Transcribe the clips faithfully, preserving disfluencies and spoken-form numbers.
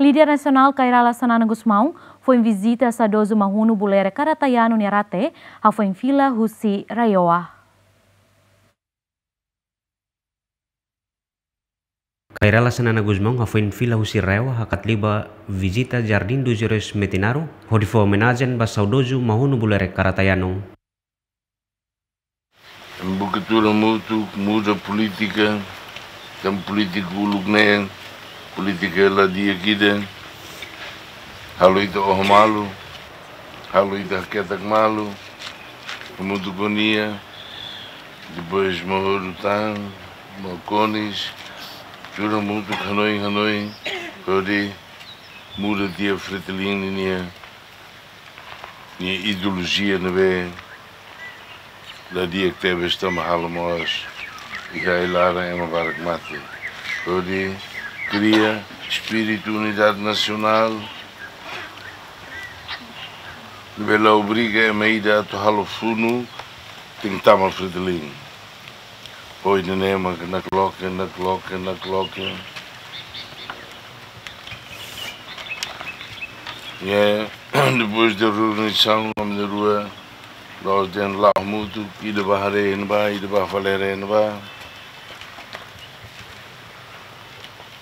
Líder nasionál Kay Rala Xanana Gusmão foin vizita saudozu Mahunu Bulerek Karatayanu nia rate, hafoin fila husi RAEOA. Kay Rala Xanana Gusmão hafoin fila husi RAEOA hakat liu ba vizita Jardim dos Heróis Metinaro, hodi fó omenajen ba saudozu Mahunu Bulerek Karatayanu. Ema buka tuur hamutuk, muda polítika, tanba polítika uluk ne'e, polítika la di'ak ida, halo ita oho malu, halo ita haketak malu, hamutuk ho nia, depois Mahoru tan, Makonis, tuur hamutuk hanoin-hanoin, hodi muda tiha Fretilin nian, nia ideolojia ne'ebé la di'ak tebes tanba halo mós iha ai-laran ema barak mate. Hodi kria espíritu unidade nasionál, ne'ebé la obriga ema ida atu halo funu, tenke tama Fretilin. Oi, ne'e mak nakloke, nakloke, nakloke. Ya, depois de reunião, ami rua, nós den la mutu, ida ba haree ne'ebá, ida ba fale haree ne'ebá.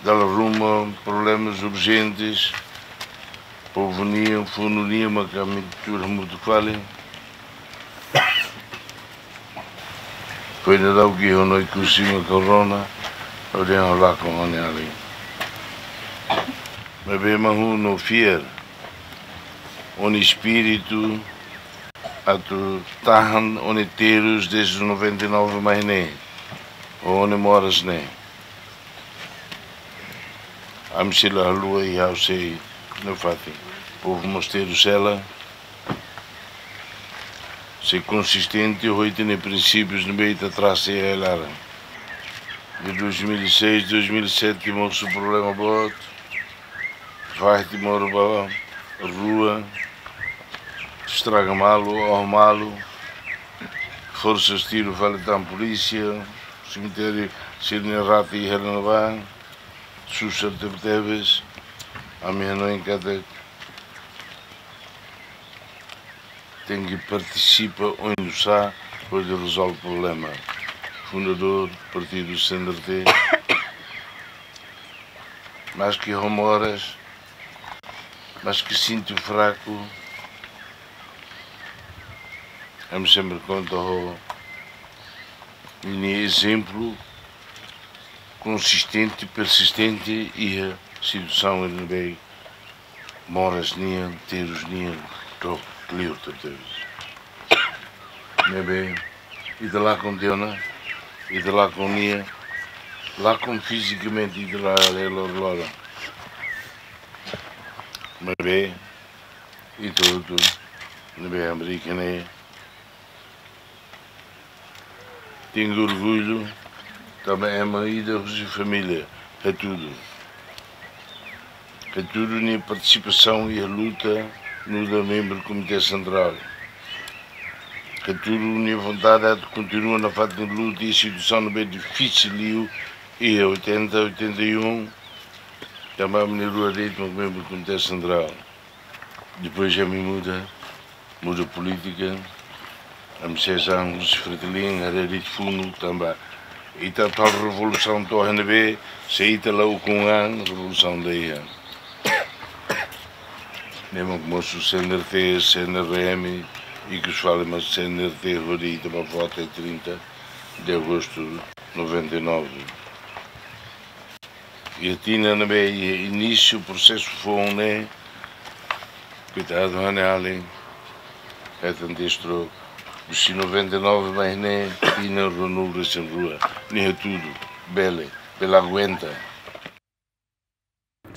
Dala ruma, problemas urgentes, povu nian, funu nian, maka ami tuur hamutuk fali. Foin daudauk iha Noi Kusima Corona, hodi halakon ho nia alin. Maibé Mahunu fiar, ho nia espíritu, atu tahan ho nia terus desde noventa e nove mai ne'e, ho nia moras ne'e. Ami sei la haluha i ha'u sei nafatin. Povu mós terus hela, sei konsistente ho ita-nia prinsípius ne'ebé ita trasa iha ai-laran. De dois mil e seis, dois mil e sete, mosu problema boot. Fahe Timor ba rua, estraga malu, oho malu. Forsas tiru fali tan polísia, semitériu sira-nia rate iha ne'ebá, susar tebetebes. Ami hanoin katak tenke partisipa oinsá hodi rezolve problema. Fundadór partidu C N R T, maski ho moras, maski sente fraku, ami sempre konta ho ninia ezemplu konsistente, persistente iha situasaun ne'ebé moras nian, terus nian, to'o kleur tebes. Ne'ebé, ita lakon tiha ona, ita lakon nia, lakon fizikamente ita la haree loroloron. Maibé, ita hotu, ne'ebé Amérika ne'e, tenke orgullu, tanba ema ida husi família, Hatudu. Hatudu nia partisipasaun iha luta, nu'udar membru Komité Sentrál. Hatudu nia vontade atu kontinua nafatin luta iha situasaun ne'ebé difisil liu, iha oitenta, oitenta e um, tanba ami rua de'it mak membru Komité Sentrál. Depois ami muda, muda polítika, ami seis anos Fretilin, haree de'it funu, tanba ita atu halo revolusaun to'o iha ne'ebé, se ita la ukun an, revolusaun la iha. Ne'e mak mosu C N R T, C N R M, ikus fali mak C N R T, hodi ita ba vota trinta de agosto noventa e nove. Iha tinan ne'ebé iha inísiu prosesu foun ne'e, koitadu ha'u-nia alin, hetan destro, husi noventa e nove mai ne'e, tinan ruanulu-resin-rua, nia Hatudu, bele, bele aguenta.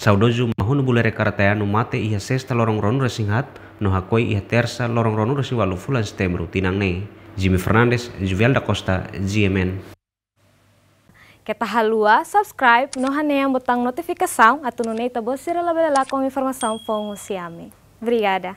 Saudozu Mahunu Bulerek Karatayanu mate iha Sesta loron ruanulu-resin-haat, no hakoi iha Tersa loron ruanulu-resin-ualu fulan Setembru tinan ne'e. Jimmy Fernandes, Juvial da Costa, G M N. Keta haluha subscribe no hanehan butaun notifikasaun atu nune'e ita-boot sira labele lakon informasaun foun husi ami. Obrigada.